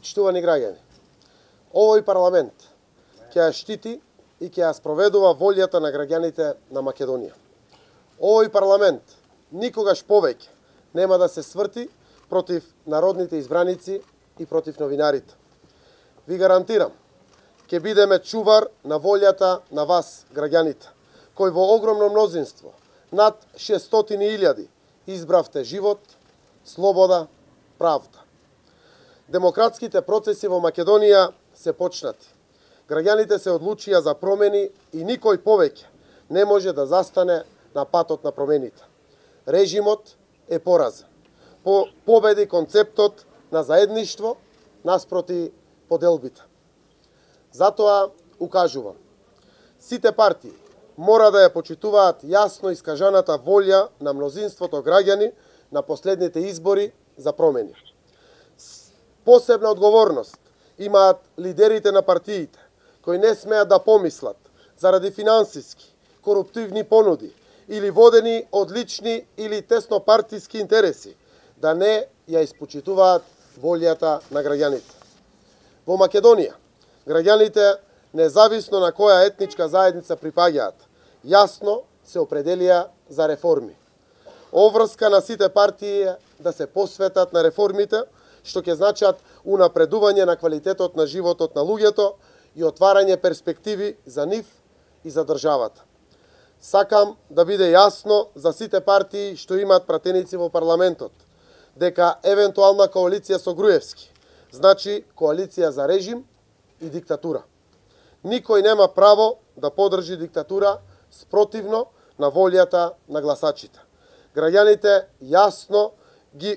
Почитувани граѓани, овој парламент ќе ја штити и ќе ја спроведува волјата на граѓаните на Македонија. Овој парламент никогаш повеќе нема да се сврти против народните избраници и против новинарите. Ви гарантирам, ќе бидеме чувар на волјата на вас, граѓаните, кои во огромно мнозинство, над 600.000, избравте живот, слобода, правда. Демократските процеси во Македонија се почнати. Граѓаните се одлучија за промени и никој повеќе не може да застане на патот на промените. Режимот е поразен. Победи концептот на заедништво наспроти поделбите. Затоа укажувам, сите партии мора да ја почитуваат јасно искажаната волја на мнозинството граѓани на последните избори за промени. Посебна одговорност имаат лидерите на партиите, кои не смеат да помислат заради финансиски, коруптивни понуди или водени од лични или теснопартиски интереси, да не ја испочитуваат волјата на граѓаните. Во Македонија, граѓаните, независно на која етничка заедница припаѓаат, јасно се определија за реформи. Обврска на сите партии е да се посветат на реформите, што ќе значат унапредување на квалитетот на животот на луѓето и отварање перспективи за нив и за државата. Сакам да биде јасно за сите партии што имаат пратеници во парламентот, дека евентуална коалиција со Груевски значи коалиција за режим и диктатура. Никој нема право да подржи диктатура спротивно на волјата на гласачите. Граѓаните јасно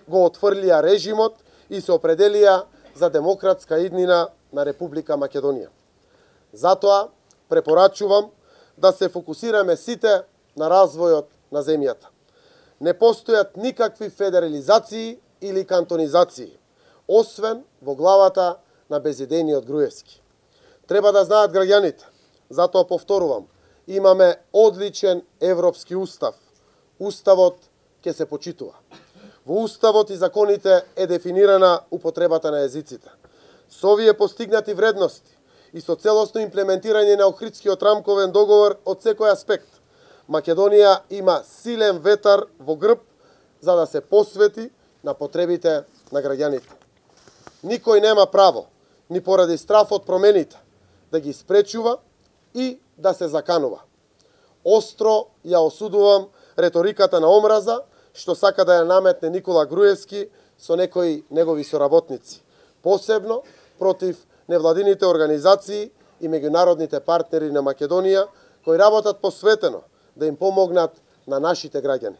го отфрлија режимот и се определија за демократска иднина на Република Македонија. Затоа препорачувам да се фокусираме сите на развојот на земјата. Не постојат никакви федерализации или кантонизации, освен во главата на безидејниот Груевски. Треба да знаат граѓаните, затоа повторувам, имаме одличен европски устав. Уставот ќе се почитува. Во Уставот и законите е дефинирана употребата на езиците. Со овие постигнати вредности и со целосно имплементирање на Охридскиот рамковен договор од секој аспект, Македонија има силен ветар во грб за да се посвети на потребите на граѓаните. Никој нема право, ни поради страф од промените, да ги спречува и да се заканува. Остро ја осудувам реториката на омраза, што сака да ја наметне Никола Груевски со некои негови соработници, посебно против невладините организации и меѓународните партнери на Македонија, кои работат посветено да им помогнат на нашите граѓани.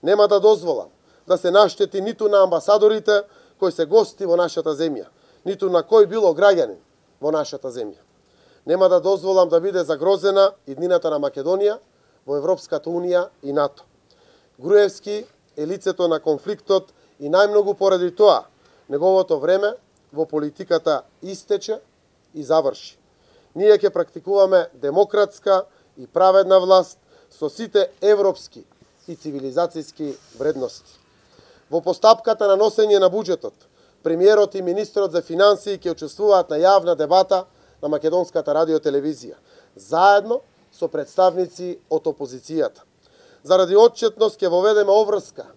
Нема да дозволам да се наштети ниту на амбасадорите кои се гости во нашата земја, ниту на кој било граѓанин во нашата земја. Нема да дозволам да биде загрозена иднината на Македонија во Европската Унија и НАТО. Груевски е лицето на конфликтот и најмногу поради тоа неговото време во политиката истече и заврши. Ние ќе практикуваме демократска и праведна власт со сите европски и цивилизацијски вредности. Во постапката на носење на буџетот, премиерот и министрот за финансии ќе учествуваат на јавна дебата на Македонската радиотелевизија, заедно со представници од опозицијата. Заради отчетност ќе воведеме обврска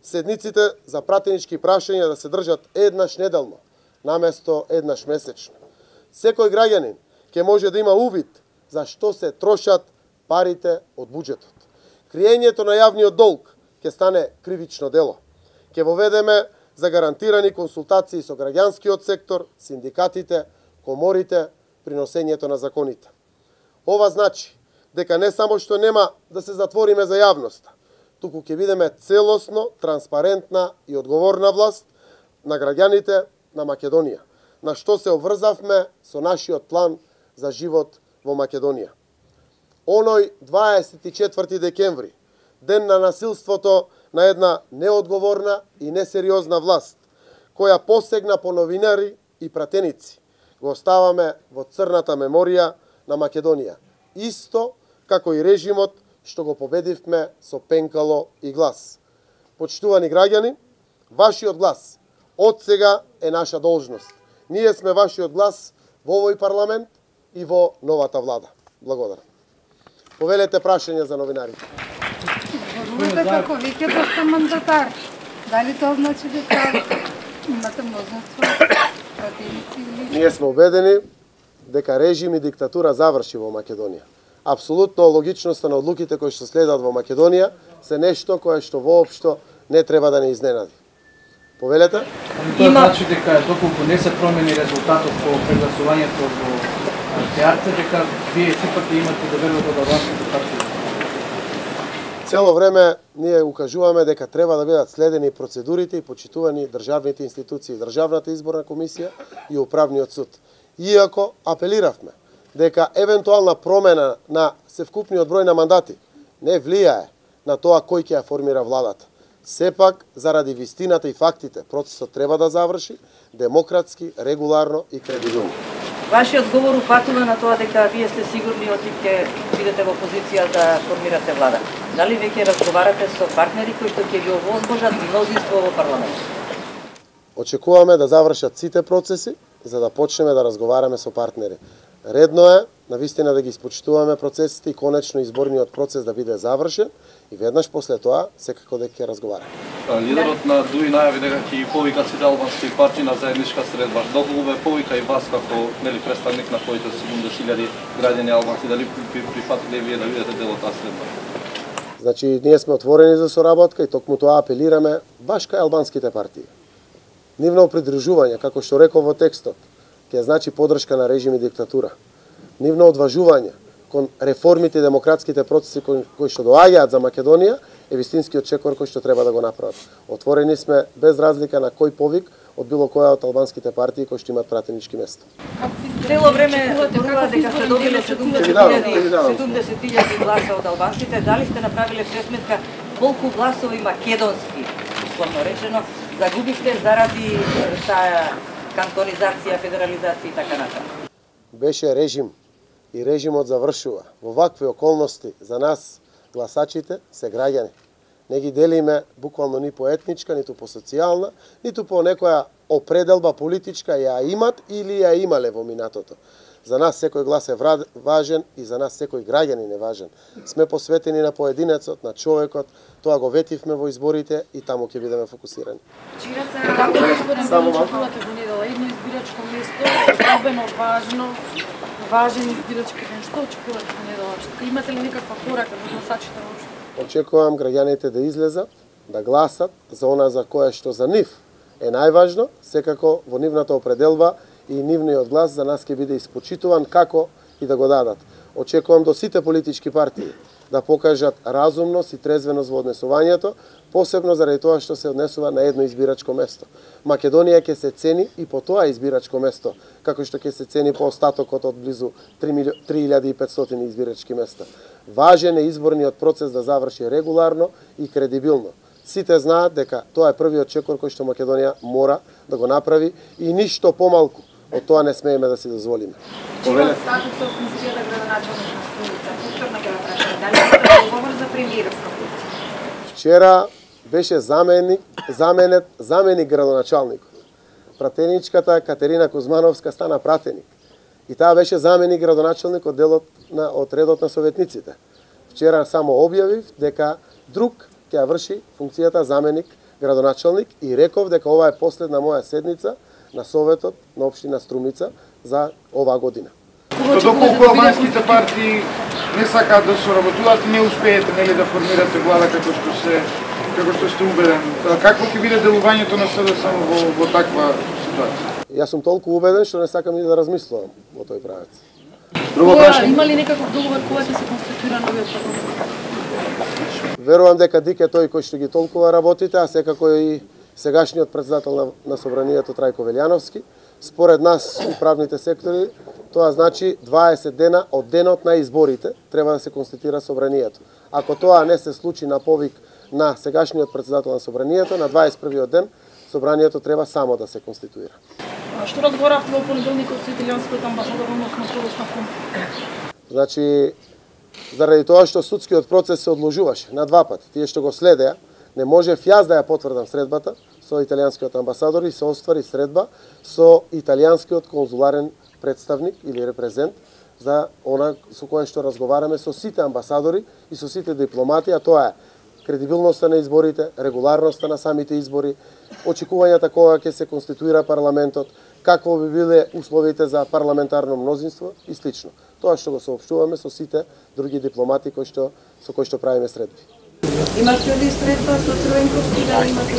седниците за пратенички прашања да се држат еднаш неделно, наместо еднаш месечно. Секој граѓанин ќе може да има увид за што се трошат парите од буџетот. Криењето на јавниот долг ќе стане кривично дело. Ќе воведеме за гарантирани консултации со граѓанскиот сектор, синдикатите, коморите при носењето на законите. Ова значи дека не само што нема да се затвориме за јавноста, туку ќе бидеме целосно, транспарентна и одговорна власт на граѓаните на Македонија, на што се обврзавме со нашиот план за живот во Македонија. Оној 24 декември, ден на насилството на една неодговорна и несериозна власт, која посегна по новинари и пратеници, го оставаме во црната меморија на Македонија, исто како и режимот што го победивме со пенкало и глас. Почитувани граѓани, вашиот глас од сега е наша должност Ние сме вашиот глас во овој парламент и во новата влада. Благодарам. Повелете прашање за новинарите. Зборувате како веќе доста мандатар. Дали тоа значи дека имате мнозинство пратеници или... Ние сме убедени дека режим и диктатура заврши во Македонија. Апсолутно логичноста на одлуките кои што следат во Македонија се нешто кое што воопшто не треба да не изненади. Повелете? Тоа значи дека доколку не се промени резултатот по прегласувањето во театар, дека вие сепак имате да верувате од албанските партии. Цело време ние укажуваме дека треба да бидат следени процедурите и почитувани државните институции, Државната изборна комисија и Управниот суд. Иако апелиравме дека евентуална промена на севкупниот број на мандати не влијае на тоа кој ќе ја формира владата. Сепак, заради вистината и фактите, процесот треба да заврши демократски, регуларно и кредибилно. Вашиот говор упатува на тоа дека вие сте сигурни оти ќе бидете во позиција да формирате влада. Дали веќе разговарате со партнери кои што ќе ви овозможат мнозинство во парламент? Очекуваме да завршат сите процеси за да почнеме да разговараме со партнери. Редно е навистина да ги испочитуваме процесите и конечно изборниот процес да биде завршен и веднаш после тоа секако дека ќе разговараме. Лидерот на ДУИ најави дека ќе повика сите албански партии на заедничка средба. Доколку ве повика и вас како представник на коите 70.000 граѓани албанци, дали прифатиле вие да бидете дел од таа средба? Значи, ние сме отворени за соработка и токму тоа апелираме баш кај албанските партии. Нивно придружување, како што реков во текстот, ќе значи подршка на режим и диктатура. Нивно одважување кон реформите и демократските процеси кои што доаѓаат за Македонија е вистинскиот чекор кој што треба да го направат. Отворени сме без разлика на кој повик од било која од албанските партии кои што имаат пратенички места. Цело време зборува дека сте добиле 70.000 гласа од албанците. Дали сте направиле пресметка колку гласови македонски, условно речено, загубивте заради таа кантонизација, федерализација и така натаму? Беше режим и режимот завршува. Во вакви околности за нас гласачите се граѓани. Не ги делиме буквално ни по етничка, ниту по социјална, ниту по некоја определба политичка ја имат или ја имале во минатото. За нас секој глас е важен и за нас секој граѓанин е важен. Сме посветени на поединецот, на човекот, тоа го ветивме во изборите и таму ќе бидеме фокусирани. Вчера се очекувате во недела едно избирачко место, особено важен избирачки ден. Што очекувате во недела? Имате ли некаква порака за гласачите воопшто? Очекувам граѓаните да излезат, да гласат за она за кое што за нив е најважно, секако во нивната определба и нивниот глас за нас ќе биде испочитуван како и да го дадат. Очекувам до сите политички партии да покажат разумност и трезвеност во однесувањето, посебно заради тоа што се однесува на едно избирачко место. Македонија ќе се цени и по тоа избирачко место, како што ќе се цени по остатокот од близу 3500 избирачки места. Важен е изборниот процес да заврши регуларно и кредибилно. Сите знаат дека тоа е првиот чекор кој што Македонија мора да го направи и ништо помалку од тоа не смееме да си дозволиме. Чија статусот функцијата градоначалник на Струница? Повторно ќе прашам, дали е договор за премиерска функција? Вчера беше заменик градоначалникот. Пратеничката Катерина Кузмановска стана пратеник. И таа беше заменик градоначалник од од редот на советниците. Вчера само објавив дека друг ќе ја врши функцијата заменик градоначалник и реков дека ова е последна моја седница на Советот на општина Струмица за оваа година. Доколку албанските партии не сакаат да соработуваат, не успеете нели да формирате влада како што сте убеден. Какво ќе биде делувањето на СДСМ во таква ситуација? Јас сум толку убеден што не сакам и да размислувам во тој правец. Има ли некаков договор кога ќе се конституира новиот парламент? Верувам дека Дик е тој кој што ги толкува работите, а секако и сегашниот председател на Собранието Трајко Велјановски. Според нас и правните сектори, тоа значи 20 дена од денот на изборите треба да се конституира Собранието. Ако тоа не се случи на повик на сегашниот председател на Собранието, на 21-иот ден Собранието треба само да се конституира. Што разговаравте во понеделникот со италијанскиот амбасадор односно словесна функција? Значи, заради тоа што судскиот процес се одложуваше на два пати, тие што го следеа, не можев јас да ја потврдам средбата, со италијанскиот амбасадор и се оствари средба со италијанскиот конзуларен представник или репрезент за она со кое што разговараме со сите амбасадори и со сите дипломати, а тоа е кредибилноста на изборите, регуларноста на самите избори, очекувањата кога ќе се конституира парламентот, какво би биле условите за парламентарно мнозинство и слично. Тоа што го соопштуваме со сите други дипломати со кои што правиме средби. Имате ли средба со Црвенковски, да имате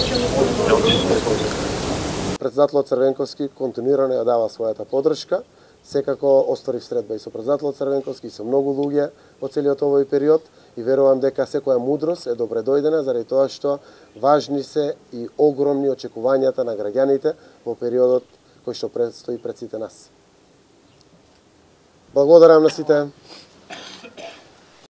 Председателот Црвенковски континуирано ја дава својата поддршка. Секако остварив средба и со председателот Црвенковски и со многу луѓе во целиот овој период и верувам дека секоја мудрост е добре дојдена заради тоа што важни се и огромни очекувањата на граѓаните во периодот кој што предстои пред сите нас. Благодарам на сите.